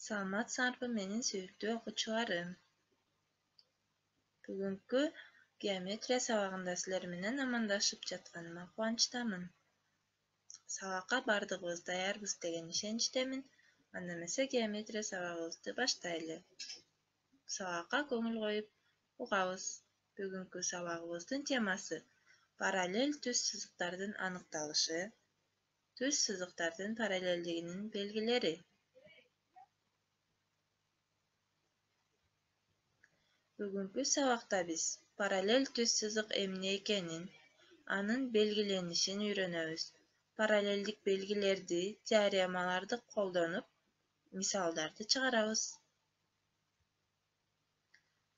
Саламатсыңарбы менин сүйүктүү окуучуларым. Бүгүнкү геометрия сабагында силер менен амандашып жатканыма кубанычтамын. Сабакка бардыгыбыз даярбыз деген ишеничтемин. Анда эмесе геометрия сабагыбызды баштайлы. Сабакка көңүл коюп угабыз. Бүгүнкү сабагыбыздын темасы параллель түз сызыктардын аныкталышы, түз сызыктардын параллелдигинин белгилери. Бүгүнкү сабакта биз параллель түз сызык эмне экенин, анын белгиленишин үйрөнөбүз. Параллелдик белгилерди, теоремаларды колдонуп, мисалдарды чыгарабыз.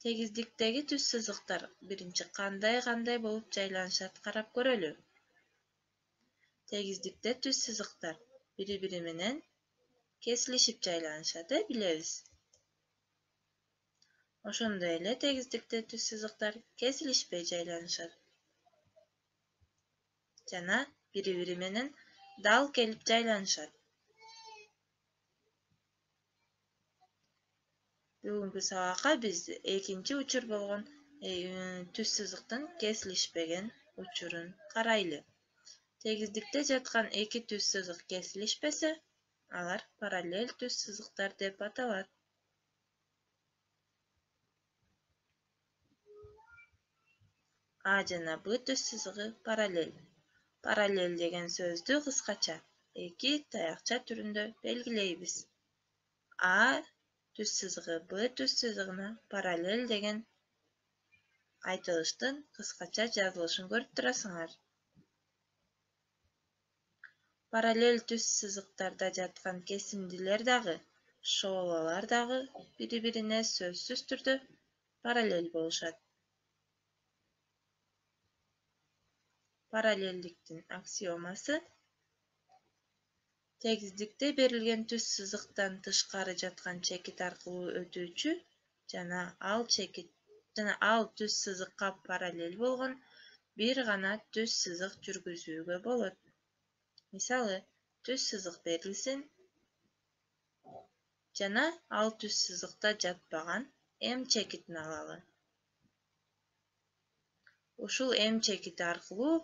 Тегиздиктеги түз сызыктар биринчи кандай болуп жайланышат карап көрөлү. Тегиздикте түз сызыктар бири-бири менен кесилишип жайланышат, билебиз. Ошондой эле тегиздикте түз сызыктар кесилишпей жайланышат жана бири-бири менен дал келип жайланышат. Бүгүнкү сабакка биз экинчи учур болгон түз сызыктын кесилишпеген учурун карайлы. Тегиздикте жаткан эки түз сызык кесилишпесе, алар параллель түз сызыктар деп аталат. А жана Б түз сызыгы параллель. Параллель деген сөздү кыскача эки таякча түрүндө белгилейбиз. А түз сызыгы Б түз сызыгына параллель деген айтылыштын кыскача жазылышын көрүп турасыңар. Параллель түз сызыктарда жаткан кесиндилер дагы, шоолалар дагы бири-бирине сөзсүз түрдө параллель болушат. Параллелдиктин аксиомасы тегиздикте берилген түз сызыктан тышкары жаткан чекит аркылуу өтүүчү жана ал түз сызыкка параллель болгон бир гана түз сызык жүргүзүүгө болот. Мисалы, түз сызык берилсин жана ал түз сызыкта жатпаган М чекитин алалы. Ушул М чекити аркылуу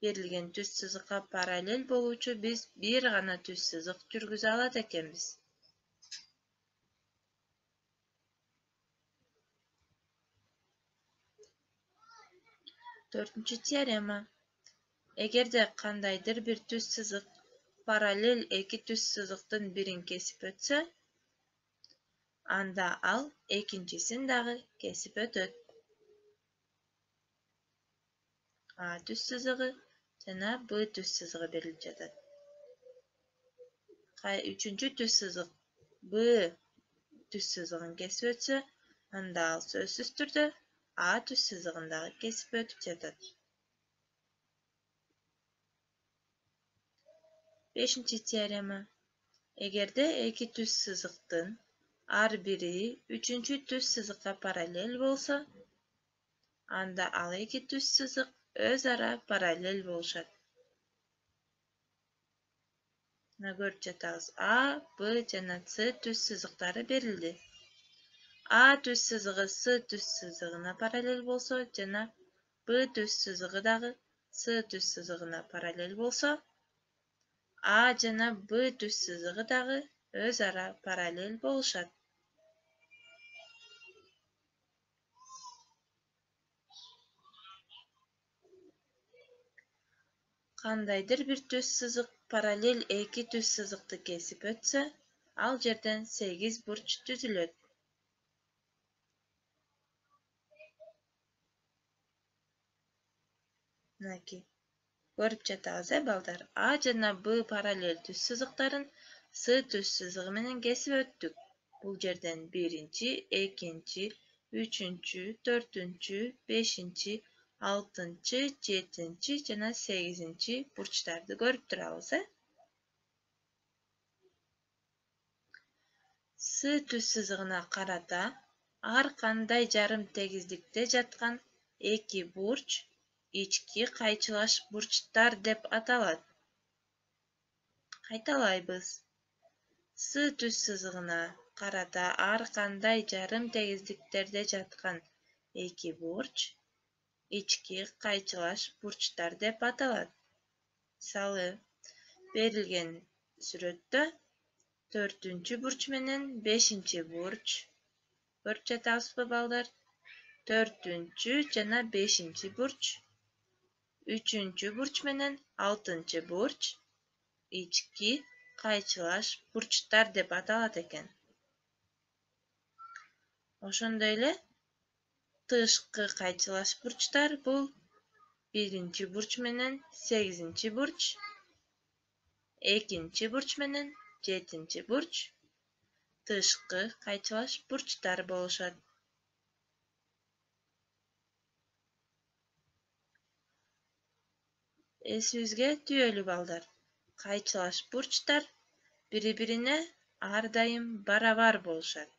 берилген түз сызыкка параллель болуучу биз бир гана түз сызык жүргүзө алат экенбиз. Төртүнчү теорема. Эгерде кандайдыр бир түз сызык параллель эки түз сызыктын бирин кесип өтсө, анда ал экинчисин дагы кесип өтөт. А түз сызыгы жана Б түз сызыгы берилип жатат. Үчүнчү түз сызык Б түз сызыгын кесип өтсө, анда ал сөзсүз түрдө А түз сызыгын дагы кесип өтүп жатат. Бешинчи теорема. Эгерде эки түз сызыктын ар бири үчүнчү түз сызыкка параллель болсо, анда ал эки түз сызык өз ара параллель болушат. Көрүп жатабыз. А, Б жана С түз сызыктары берилди. А түз сызыгы С түз сызыгына параллель болсо жана Б түз сызыгы дагы С түз сызыгына параллель болсо, А жана Б түз сызыгы дагы өз ара параллель болушат. Кандайдыр бир түз сызык параллель эки түз сызыкты кесип өтсө, ал жерден 8 бурч түзүлөт. Көрүп жатабыз, балдар. А жана Б параллель түз сызыктарын С түз сызыгы менен кесип өттүк. Бул жерден биринчи, экинчи, үчүнчү, төртүнчү, бешинчи, алтынчы, жетинчи жана 8-чи бурчтарды көрүп турабыз. С түз сызыгына карата ар кандай жарым тегиздикте жаткан эки бурч ички кайчылаш бурчтар деп аталат. Кайталайбыз. С түз сызыгына карата ар кандай жарым тегиздиктерде жаткан эки бурч ички кайчылаш бурчтар деп аталат. Мисалы, берилген сүрөттө 4-бурч менен 5-бурч көрүп жатабызбы балдар? 4 жана 5-бурч 3-бурч менен 6-бурч ички кайчылаш бурчтар деп аталат экен. Ошондой эле тышкы кайчылаш бурчтар бул 1-бурч менен 8-бурч, 2-бурч менен 7-бурч тышкы кайчылаш бурчтар болушат. Эсибизге түбөлү балдар. Кайчылаш бурчтар бири-бирине ар дайым барабар болушат.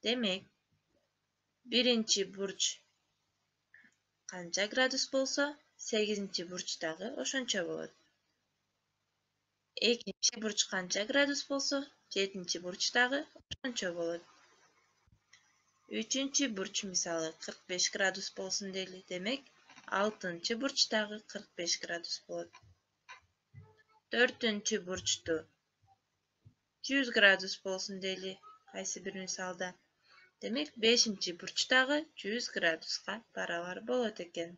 Демек, 1-бурч канча градус болсо, 8-бурч дагы ошончо болот. 2-бурч канча градус болсо, 7-бурч дагы ошончо болот. 3-бурч мисалы 45 градус болсун дейли. Демек, 6-бурч дагы 45 градус болот. 4-бурчту 100 градус болсун дейли кайсы бир мисалда. Демек, 5-бурч дагы 100 градуска барабар болот экен.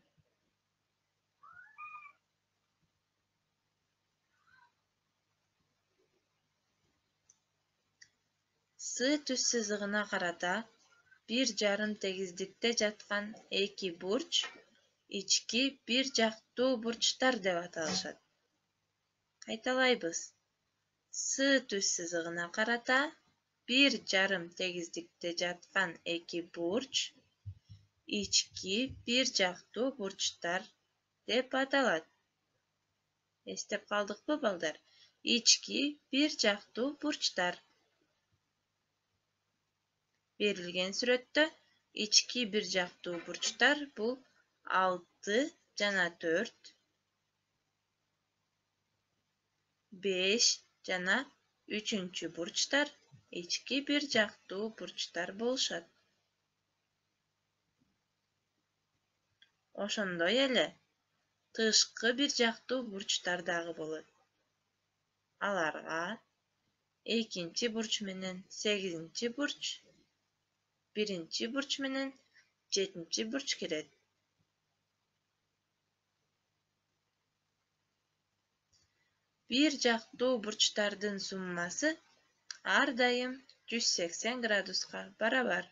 С түз сызыгына карата бир жарым тегиздикте жаткан эки бурч ички бир жактуу бурчтар деп аталышат. Кайталайбыз. С түз сызыгына карата бир жарым тегиздикте жаткан эки бурч ички бир жактуу бурчтар деп аталат. Эстеп калдыкпы балдар? Ички бир жактуу бурчтар. Берилген сүрөттө ички бир жактуу бурчтар бул 6 жана 4, 5 жана 3-бурчтар ички бир жактуу бурчтар болушат. Ошондой эле тышкы бир жактуу бурчтар дагы болот. Аларга 2-бурч менен 8-бурч, 1-бурч менен 7-бурч кирет. Бир жактуу бурчтардын суммасы ар дайым 180 градуска барабар.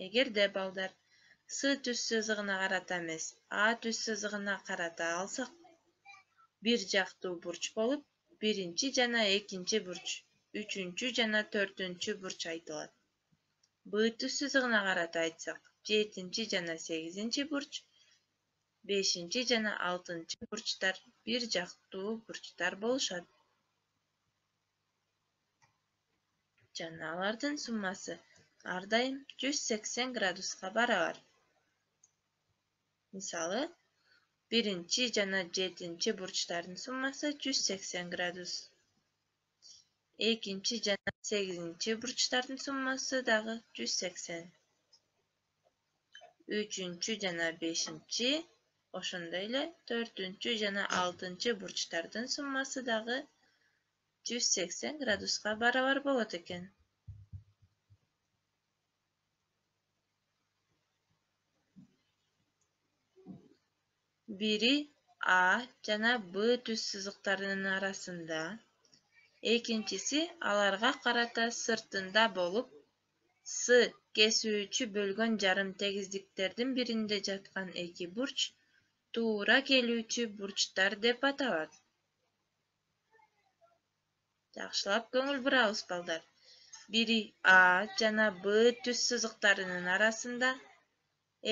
Эгерде балдар С түз сызыгына карата эмес, А түз сызыгына карата алсак, бир жактуу бурч болуп, 1-жана 2-бурч, 3-жана 4-бурч айтылат. Б түз сызыгына карата айтсак, 7-жана 8-бурч, 5-жана 6-бурчтар бир жактуу бурчтар болушат. Жана алардын суммасы ар дайым 180 градуска барабар. Мисалы, 1-жана 7-бурчтардын суммасы 180 градус. 2-жана 8-бурчтардын суммасы дагы 180. 3-жана 5, ошондой эле 4-жана 6-бурчтардын суммасы дагы 180 градуска барабар болот экен. Бири А жана Б түз сызыктарынын арасында, экинчиси аларга карата сыртында болуп, С кесүүчү бөлгөн жарым тегиздиктердин биринде жаткан эки бурч туура келүүчү бурчтар деп аталат. Жакшылап көңүл бурабыз балдар. Бири А жана Б түз сызыктарынын арасында,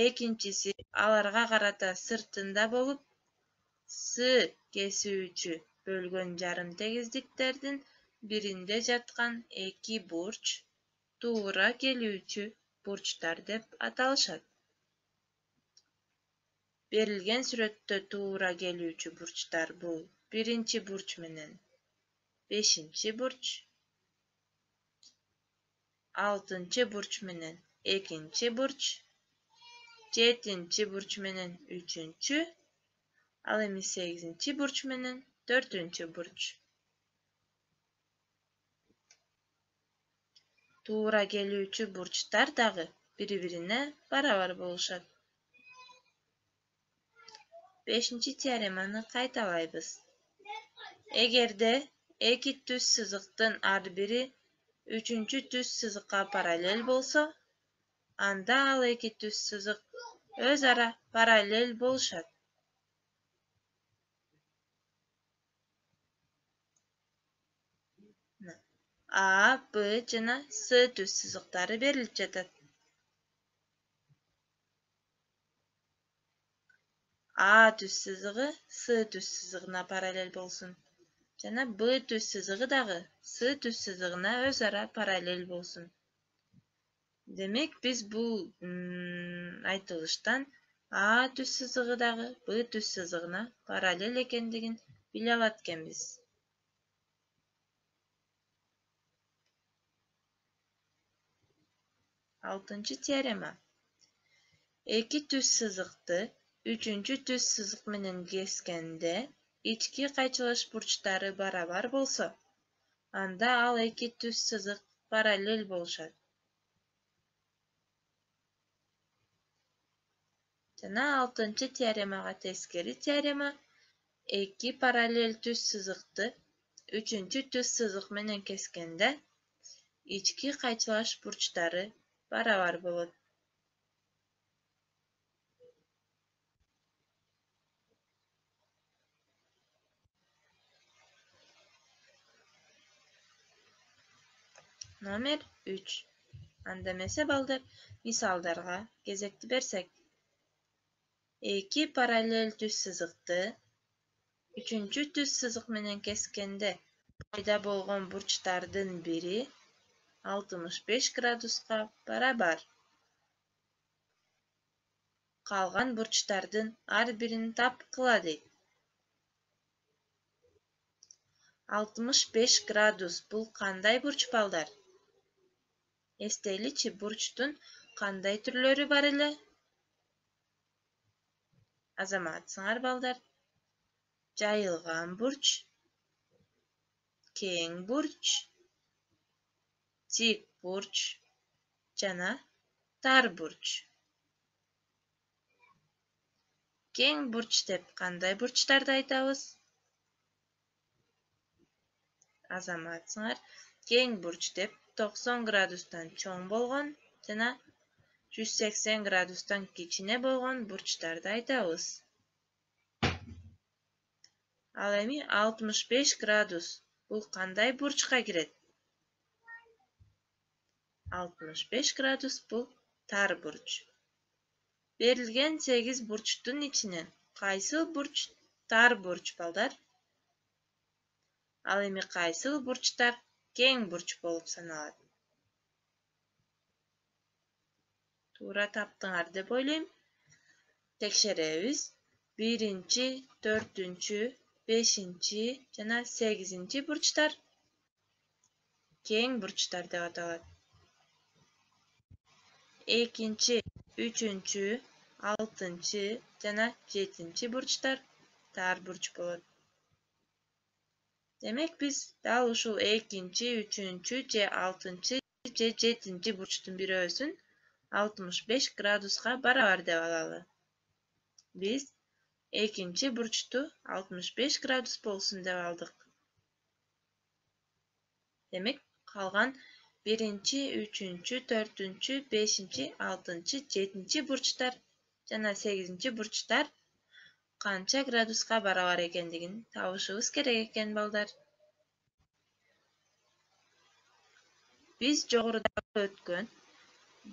экинчиси аларга карата сыртында болуп, С кесүүчү бөлгөн жарым тегиздиктердин биринде жаткан эки бурч туура келүүчү бурчтар деп аталышат. Берилген сүрөттө туура келүүчү бурчтар бул 1-бурч менен 5-нчи бурч, 6-нчы бурч менен 2-нчи бурч, 7-нчи бурч менен 3-нчү, ал эми 8-нчи бурч менен 4-нчү бурч. Туура келүүчү бурчтар дагы бири-бирине барабар болушат. 5-нчи теореманы кайталайбыз. Эгерде эки түз сызыктын ар бири 3-чү түз сызыкка параллель болсо, анда ал эки түз сызык өз ара параллель болушат. А, Б жана С түз сызыктары берилип жатат. А түз сызыгы С түз сызыгына параллель болсун. Жана Б түз сызыгы дагы С түз сызыгына өз ара параллель болсун. Демек, биз бул айтылыштан А түз сызыгы дагы Б түз сызыгына параллель экендигин биле алат экенбиз. 6-нчы теорема. Эки түз сызыкты 3-чү түз сызык менен кескенде ички кайчылыш бурчтары барабар болсо, анда ал эки түз сызык параллель болушат. Жана 6-нчы теоремага тескери теорема. Эки параллель түз сызыкты 3-чү түз сызык менен кескенде ички кайчылаш бурчтары барабар болот. Номер 3. Анда эмесе балдар, мисалдарга кезекти берсек. Эки параллель түз сызыкты 3-чү түз сызык менен кескенде пайда болгон бурчтардын бири 65 градуска барабар. Калган бурчтардын ар бирин тапкыла дейт. 65 градус бул кандай бурч балдар? Эстейличи, бурчтун кандай түрлөрү бар эле? Азаматсыңар балдар. Жайылган бурч, кең бурч, тик бурч жана тар бурч. Кең бурч деп кандай бурчтарды айтабыз? Азаматсыңар. Кең бурч деп 90 градустан чоң болгон жана 180 градустан кичине болгон бурчтарды айтабыз. Ал эми 65 градус бул кандай бурчка кирет? 65 градус бул тар бурч. Берилген 8 бурчтун ичинен кайсыл бурч тар бурч балдар? Ал эми кайсыл бурчтар кең бурч болуп саналат? Туура таптыңар деп ойлойм. Текшеребиз. 1-нчи, 4-нчү, 5-нчи жана 8-нчи бурчтар кең бурчтар деп аталат. 2-нчи, 3-нчү, 6-нчы жана 7-нчи бурчтар тар бурч болот. Демек, биз дал ушул 2-нчи, 3-нчү же 6-нчы же 7-нчи бурчтун бирөөсүн 65 градуска барабар деп алалы. Биз 2-нчи бурчту 65 градус болсун деп алдык. Демек, калган 1-нчи, 3-нчү, 4-нчү, 5-нчи, 6-нчы, 7-нчи бурчтар жана 8-нчи бурчтар канча градуска барабар экендигин табышыбыз керек экен балдар. Биз жогоруда өткөн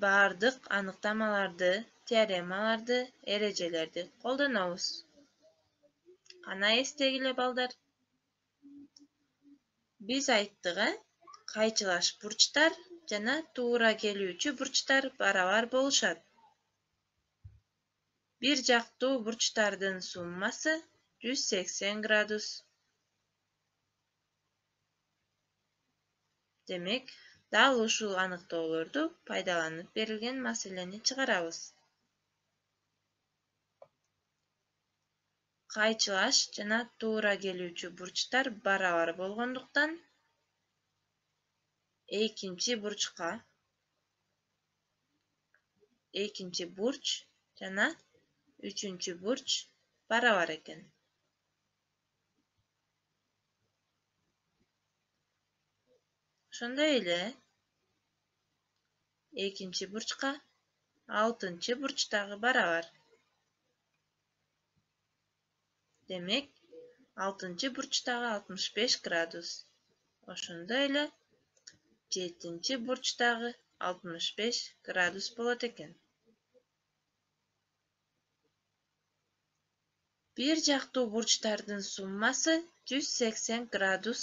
бардык аныктамаларды, теоремаларды, эрежелерди колдонобуз. Кана эстегиле балдар. Биз айттык, кайчылаш бурчтар жана туура келүүчү бурчтар барабар болушат. Бир жактуу бурчтардын суммасы 180 градус. Демек, дал ушул аныктоолорду пайдаланып берилген маселени чыгарабыз. Кайчылаш жана туура келүүчү бурчтар барабар болгондуктан экинчи бурч жана үчүнчү бурч барабар экен. Ошондой эле экинчи бурчка алтынчы бурч дагы барабар. Демек, алтынчы бурчтагы 65 градус. Ошондой эле жетинчи бурчтагы 65 градус болот экен. Бир жактуу бурчтардын суммасы 180 градус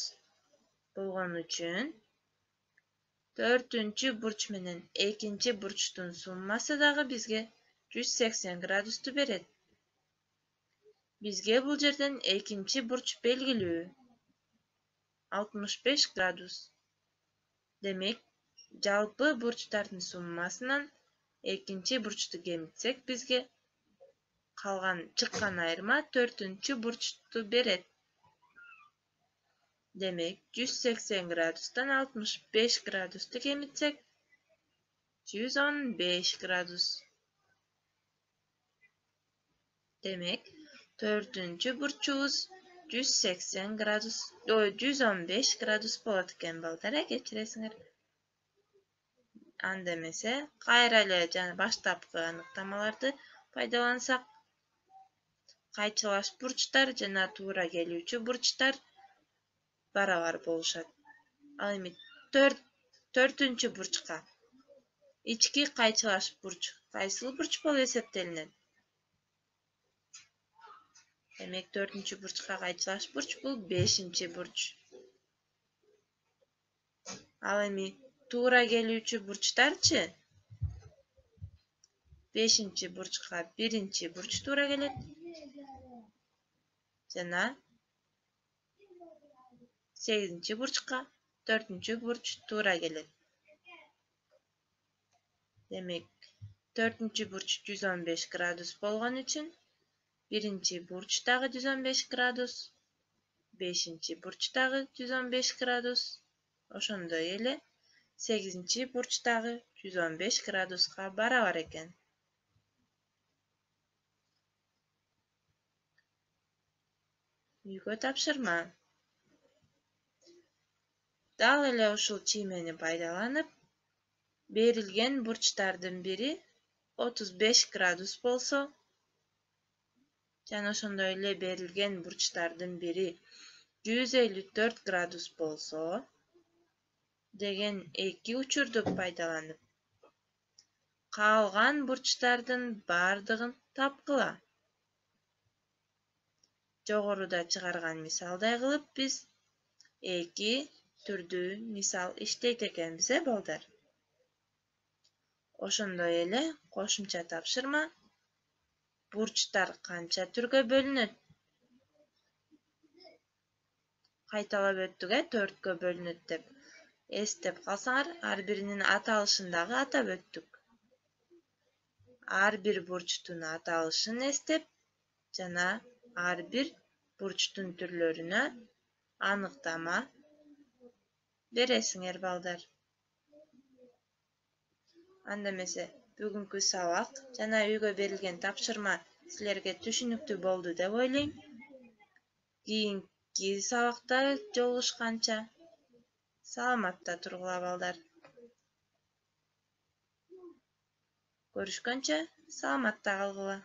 болгон үчүн төртүнчү бурч менен экинчи бурчтун суммасы дагы бизге 180 градусту берет. Бизге бул жерден экинчи бурч белгилүү. 65 градус. Демек, жалпы бурчтардын суммасынан экинчи бурчту кемитсек, бизге чыккан айырма төртүнчү бурчту берет. Демек, 180 градустан 65 градусту кемитсек, 115 градус. Демек, төртүнчү бурчубуз 115 градус болот экен балдар, кечиресиңер. Анда эмесе, кайра эле жана баштапкы аныктамаларды пайдалансак, кайчылаш бурчтар жана туура келүүчү бурчтар барабар болушат. Ал эми төртүнчү бурчка ички кайчылаш бурч кайсыл бурч болуп эсептелинет? Демек, төртүнчү бурчка кайчылаш бурч бул 5-бурч. Ал эми туура келүүчү бурчтарчы? 5-бурчка 1-бурч туура келет. Жана 8-бурчка 4-бурч туура келет. Демек, 4-бурч 115 градус болгон үчүн 1-бурч дагы 115 градус, 5-бурч дагы 115 градус, ошондой эле 8-бурч дагы 115 градуска барабар экен. Үйгө тапшырма. Дал эле ушул чиймени пайдаланып, берилген бурчтардын бири 35 градус болсо, жана ошондой эле берилген бурчтардын бири 154 градус болсо деген эки учурду пайдаланып, калган бурчтардын бардыгын тапкыла. Жогоруда чыгарган мисалдай кылып биз эки түрдүү мисал иштейт экенбиз, балдар. Ошондой эле кошумча тапшырма: бурчтар канча түргө бөлүнөт? Кайталап өттүк, 4кө бөлүнөт деп. Эстеп калсаңар, ар биринин аталышын дагы атап өттүк. Ар бир бурчтун аталышын эстеп жана ар бир бурчтун түрлөрүнө аныктама бересиңер, балдар. Анда эмесе, бүгүнкү сабак жана үйгө берилген тапшырма силерге түшүнүктүү болду деп ойлойм. Кийинки сабакта жолугушканча саламатта тургула, балдар. Көрүшкөнчө саламатта калгыла.